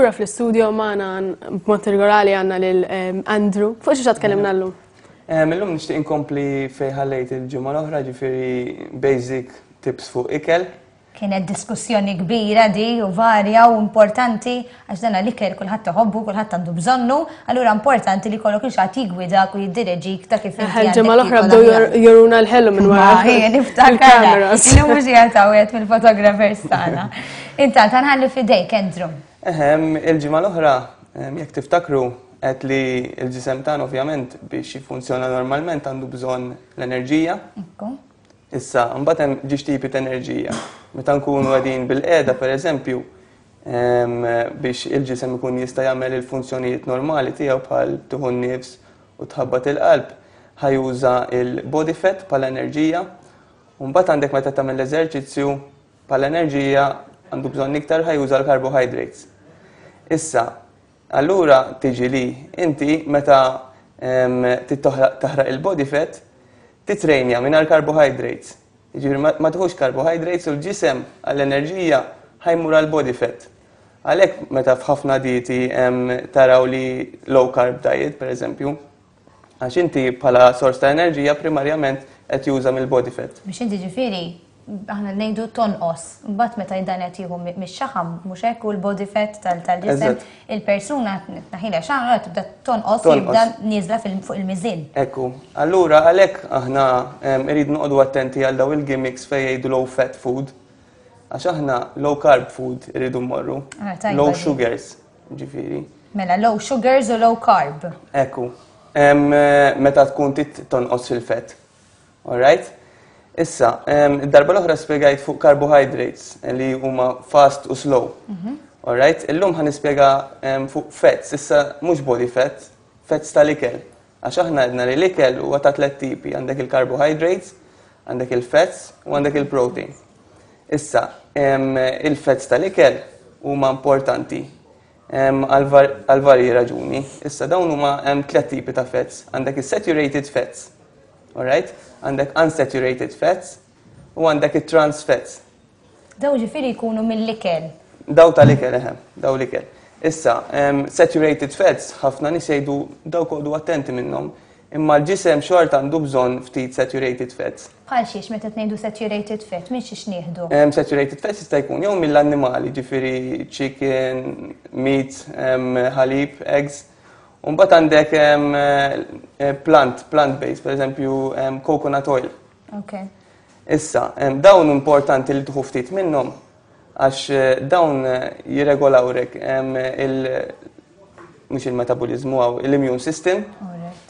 Lura fl-istudio magħna b'mod regolari għandna lil Andrew. Fuq xi tkellimna llum? Illum nixtieq inkompli fejn ħallejt il-ġimgħa l-oħra, ġifieri basic tips fuq ikel. Kienet diskussjoni kbira di u varja u importanti għax dan l-ikel kulħadd iħobbu, kulħadd għandu bżonnu, allura importanti li kollok il-xatt jigwidak u jiddireġik ta' kif inti. Ġimgħa l-oħra bdew joruna l-ħelu minn wara. Niftakar. Illum mhux qiegħed mill-photographers tagħna. Intant ħanħalli fidejk, Andrew. Ehem, il-ġimgħa l-oħra, jekk tiftakru, għedt li l-ġisem tagħna ovvjament biex jiffunzjona normalment għandu bżonn l-enerġija. Ekku. Issa, mbagħad hemm ġiex tipi ta' enerġija. Meta nkunu qegħdin bil-qiegħda pereżempju, biex il-ġisem ikun jista' jagħmel il-funzjonijiet normali tiegħu bħal tieħu n-nifs u tħabbat il-qalb, ħa juża l-body fat bħala enerġija. U mbagħad għandek meta tagħmel l-eżerċizzju Bħala enerġija għandu bżonn iktar ħa juża l-carbohydrates. Issa, allura tiġi li inti meta taħraq il-body fat, titrejnja mingħajr carbohydrates. Jiġifieri ma tieħux carbohydrates u l-ġisem għall-enerġija ħa jmur għall-body fat. Għalhekk meta f'ħafna dieti taraw li low carb diet, per eżempju, Għax inti bħala sors ta' enerġija primarjament qed juża mill-body fat. Biex inti ġifieri aħna ngħidu tonqos, mbagħad meta dan qed jieħu mix-xaħam mhux hekk u l-body fat tal-ġisem, il-persuna tnaħilha xaħam tibda tonqos u jibda nieżla fuq il-miżien. Ekku. Allura għalhekk aħna irridu noqogħdu attenti għal daw il-gimmicks fejn jgħidu low fat food. Għax aħna low carb food irridu mmorru. Ah, tajba Low di. sugars. Ġifieri. Mela low sugars u low carb. Ekku. Meta tkun tit tonqos fil-fett. Alright? Issa, id-darba l-oħra spjegajt fuq carbohydrates li huma fast u slow. Mhm. Alright? Illum ħa nispjega fuq fats, issa mhux body fat, fats tal-ikel. Għax aħna għedna li l-ikel huwa ta' tlet tipi, għandek il-carbohydrates, għandek il-fats u għandek il-protein. Issa, il-fats tal-ikel huma importanti għal varji raġuni. Issa dawn huma hemm tlet tipi ta' fats. Għandek is-saturated fats, alright? Għandek unsaturated fats u għandek it-trans fats. Daw ġifieri jkunu mill-ikel. Daw tal-ikel, eħe, daw l-ikel. Issa, saturated fats, ħafna nies jgħidu dawk oqogħdu attenti minnhom, imma l-ġisem xorta għandu bżonn ftit saturated fats. Bħal xiex meta ngħidu saturated fat, minn xiex nieħdu? Saturated fats jista' jkun jew mill-annimali, ġifieri chicken, meat, ħalib, eggs. U mbagħad għandek eh, plant, plant based, per eżempju coconut oil. Okay. Issa, dawn importanti li tieħu ftit minnhom għax eh, dawn eh, jirregolawrek il mhux il-metabolizmu għaw l-immune system.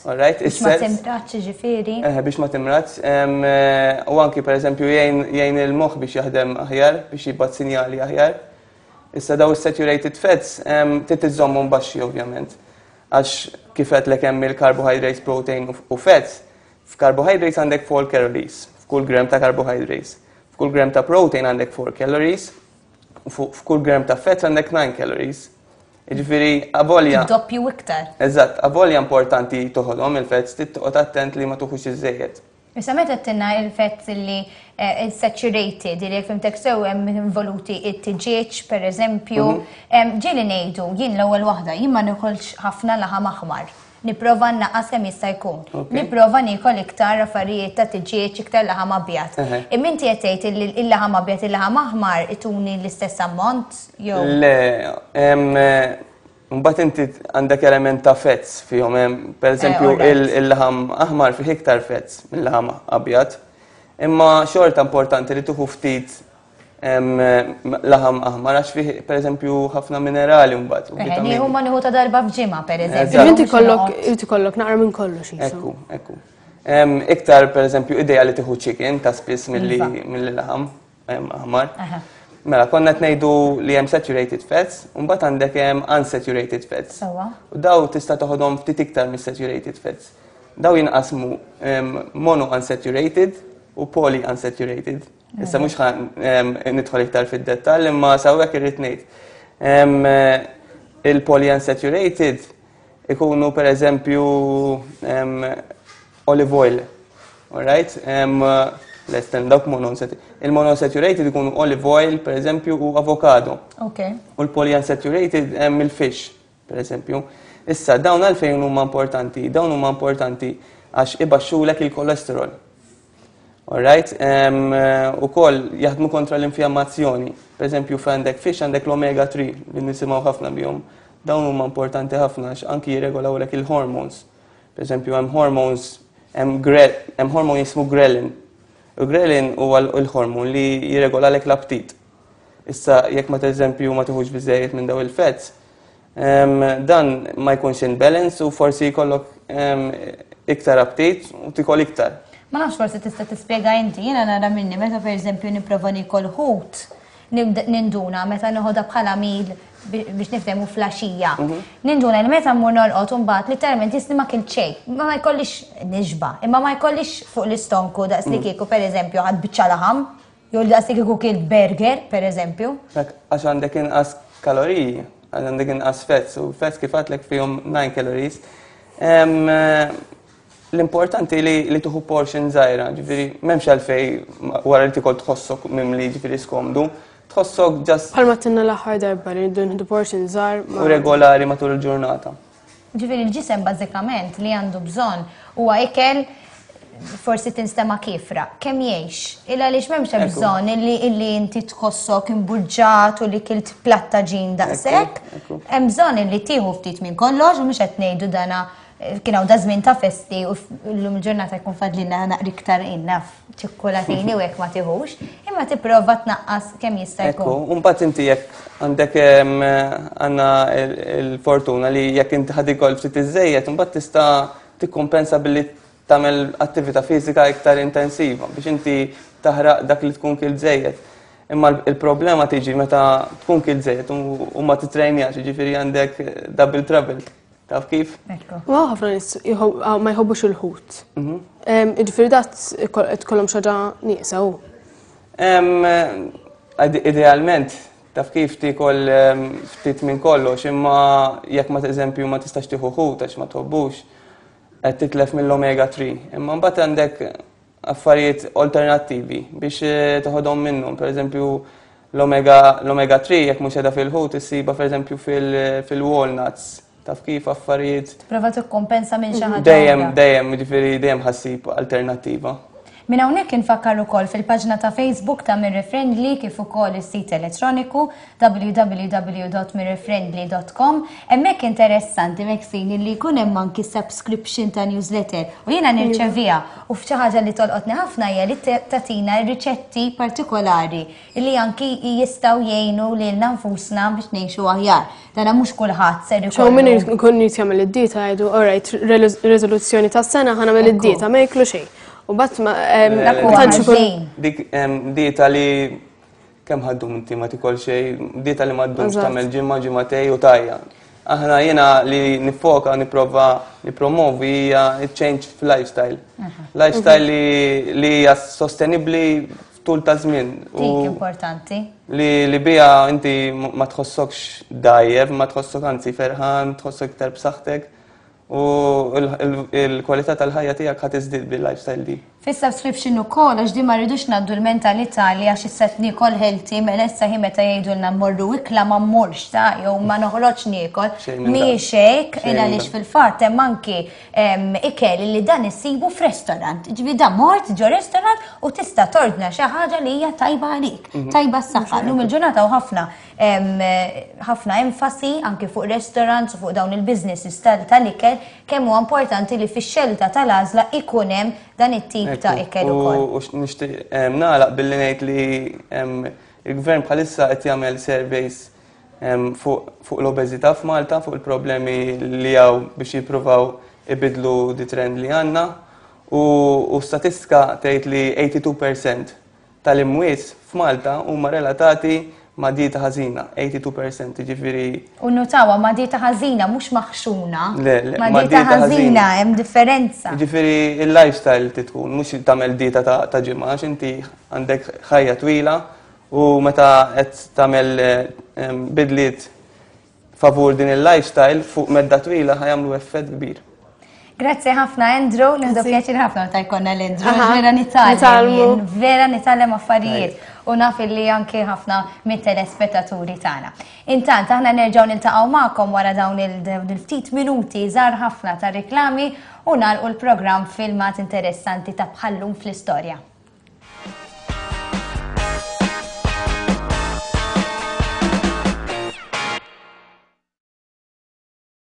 Alright. Biex ma timratx ġifieri. Eh, biex ma timratx. U anki pereżempju jgħin il-moħħ biex jaħdem aħjar, biex jibgħat sinjali aħjar. Issa daw is-saturated fats trid iżommhom baxxi ovvjament. Għax kif għedtlek hemm il-carbohydrates, protein u fats, F'carbohydrates għandek 4 calories, f'kull gram ta' carbohydrates. F'kull gram ta' protein għandek 4 calories, u f'kull gram ta' fat għandek 9 calories. Jiġifieri avolja. Doppju iktar. Eżatt, avolja importanti toħodhom il-fats, trid toqgħod attent li ma tuħux iżejjed. Issa meta tinna il-fats li eh, saturated, li jekk fimtek sew hemm involuti it-tiġieġ pereżempju, mhm. ġieli ngħidu jien l-ewwel waħda, jien ma nikolx ħafna laħam aħmar. Nipprova nnaqqas kemm jista' jkun. Nipprova niekol iktar affarijiet ta' tiġieġ, iktar laħam abjad. Imma inti qed tgħid li l-laħam abjad, il-laħam aħmar ituni l-istess ammont jew? Le, mbagħad inti għandek element ta' fats fihom hemm, pereżempju eh, il-laħam aħmar fih iktar fats mill-laħam abjad. Imma xorta importanti li tuħu ftit laħam aħmar għax fih pereżempju ħafna minerali mbagħad. Eh, nieħu ma nieħu ta' darba f'ġimgħa pereżempju. Inti kollok inti kollok naqra minn kollox. Ekku, ekku. Iktar pereżempju idea li tieħu chicken ta' spiss milli iva. laħam aħmar. Mela, konna qed ngħidu li hemm saturated fats, u mbagħad għandek hemm unsaturated fats. U daw tista' toħodhom ftit iktar mis-saturated fats. Daw jinqasmu mono unsaturated u poly unsaturated. Issa mhux ħa nidħol iktar fid-dettall imma sawwek irrid ngħid. Il-polyunsaturated ikunu per eżempju olive oil, alright? Less than dawk monounsaturated. Il-monounsaturated ikunu olive oil, per eżempju, u avocado. U l-polyunsaturated hemm il-fish, per eżempju. Issa, dawn għalfejn huma importanti? Dawn huma importanti għax ibaxxulek il-kolesterol. Alright? Ukoll jaħdmu kontra l-infjammazzjoni. Per eżempju, f'għandek fish għandek l-omega 3 li nisimgħu ħafna bihom. Dawn huma importanti ħafna għax anki jirregolawlek il-hormones. Per eżempju, hemm hormones, hemm hormon jismu ghrelin. U ghrelin huwa l-hormon li jirregolalek l-aptit. Issa, jekk ma eżempju ma tiħux biżejjed minn daw il-fats, dan ma jkunx in balance u forsi jkollok iktar aptit u tikol iktar. Ma nafx forsi tista' tispjega inti, jiena nara minni meta pereżempju nipprova nikol ħut, ninduna meta noħodha bħala meal biex niftehmu flaxija. Ninduna li meta mmur norqod u mbagħad literalment jisni ma kilt xejn. Ma jkollix nixba, imma ma jkollix fuq l-istonku daqs li kieku pereżempju ħadt biċċa laħam, jew daqs li kieku kilt burger pereżempju. Dak għax għandek inqas kaloriji, għax għandek inqas fats, u fats kif għadtlek fihom 9 calories. L-importanti li tuħu portion żgħira, ġifieri m'hemmx għalfej wara li tikol tħossok mimli, ġifieri skomdu, tħossok just Bħalma tinna l-aħħar darba li rridu nieħdu portion żgħar u regolari matul il-ġurnata. Ġifieri l-ġisem bażikament li għandu bżonn huwa ikel forsi tinstema' kiefra, kemm jgħix. Illa għaliex m'hemmx bżonn illi inti tħossok imbuġġat u li kilt platta ġin daqshekk. Hemm bżonn illi tieħu ftit minn kollox u mhux qed ngħidu dana kien hawn da żmien ta' festi u llum il-ġurnata jkun fadlilna naqra iktar innaf ċikkulatini u hekk ma tieħux, imma tipprova tnaqqas kemm jista' jkun. Ekku, u mbagħad inti jekk għandek għandna il-fortuna li jekk inti ħad ikol ftit iżejjed, imbagħad tista' tikkumpensa billi tagħmel attività fiżika iktar intensiva biex inti taħraq dak li tkun kilt żejjed. Imma il-problema tiġi meta tkun kilt żejjed u ma titrejnjax, jiġifieri għandek double trouble. Taf kif? U ħafna nies ma jħobbux il-ħut. Jiġifieri dat tkollhom xi ħaġa nieqsa hu. Idealment, taf kif tikol ftit minn kollox, imma jekk ma eżempju ma tistax tieħu ħut għax ma tħobbux, qed titlef mill-omega 3. Imma mbagħad għandek affarijiet alternattivi biex toħodhom minnhom, pereżempju l-omega 3 jekk mhux qiegħda fil-ħut issibha pereżempju fil-walnuts. Taf kif affarijiet. Prova tikkompensa minn xi ħaġa. Dejjem, dejjem, jiġifieri dejjem ħassib alternattiva. Minn hawnhekk infakkar ukoll fil-paġna ta' Facebook ta' Mirror Friendly kif ukoll is-sit elettroniku www.mirrorfriendly.com. Hemmhekk interessanti Maxine li jkun hemm anki subscription ta' newsletter u jiena nirċeviha u f'xi ħaġa li tolqotni ħafna hija li tagħtina riċetti partikolari li anki jistgħu jgħinu lilna nfusna biex ngħixu aħjar. Dana mhux kulħadd ser ikollu. Ċew min ikun irid jagħmel id-dieta jgħidu, all right, riżoluzzjoni tas-sena ħa nagħmel id-dieta, ma jiklu xejn. U bat ma tantx ikun. Dik dieta li kemm ħaddum inti ma tikol xejn, dieta li ma ddumx tagħmel ġimgħa, ġimgħatej u tajja. Aħna jiena li nifoka nipprova nippromovi hija change fil-lifestyle. Lifestyle li hija sostenibbli tul ta' żmien. Dik importanti. Li bija inti ma tħossokx dajjef, ma tħossok anzi ferħan, tħossok iktar b'saħħtek u l-kwalità tal-ħajja tiegħek ħa tiżdied bil-lifestyle di. Fis-subscription ukoll għax di ma rridux ngħaddu l-mentalità li għax issa qed niekol healthy mela issa hi meta jgħidulna mmorru ikla ma mmurx ta' jew ma noħroġx niekol. Mhijiex hekk, għaliex fil-fatt hemm anki ikel li dan issibu f'restaurant. Ġifieri dan mort ġo restaurant u tista' tordna xi ħaġa li hija tajba għalik, tajba s-saħħa. Lum il-ġurnata u ħafna ħafna enfasi anki fuq restaurants u fuq dawn il-businesses tal-ikel kemm huwa importanti li fix-xelta tal-għażla ikun hemm dan it-tip ta' ikel ukoll. U nixtieq nagħlaq billi ngħid li il-gvern bħalissa qed jagħmel surveys fuq l-obeżità f'Malta, fuq il-problemi li hawn biex jippruvaw ibidlu di trend li għandna. U statistika tgħid li 82% tal-imwiet f'Malta huma relatati ma' dieta ħażina, 82%, jiġifieri. U nnutawha ma' dieta ħażina mhux maħxuna. Le, le, ma' dieta ħażina hemm differenza. Jiġifieri il-lifestyle trid tkun, mhux tagħmel dieta ta' ġimgħa għax inti għandek ħajja twila u meta qed tagħmel bidliet favur din il-lifestyle fuq medda twila ħa jagħmlu effett kbir. Grazzi ħafna Andrew, nieħdu pjaċir ħafna meta jkollna l-Andrew, vera nitgħallem, vera nitgħallem affarijiet u naf illi anke ħafna mit-telespettaturi tagħna. Intant aħna nerġgħu niltaqgħu magħkom wara dawn il-ftit minuti żgħar ħafna ta' riklami u nagħlqu l-programm filmat interessanti ta' bħallum fl-istorja.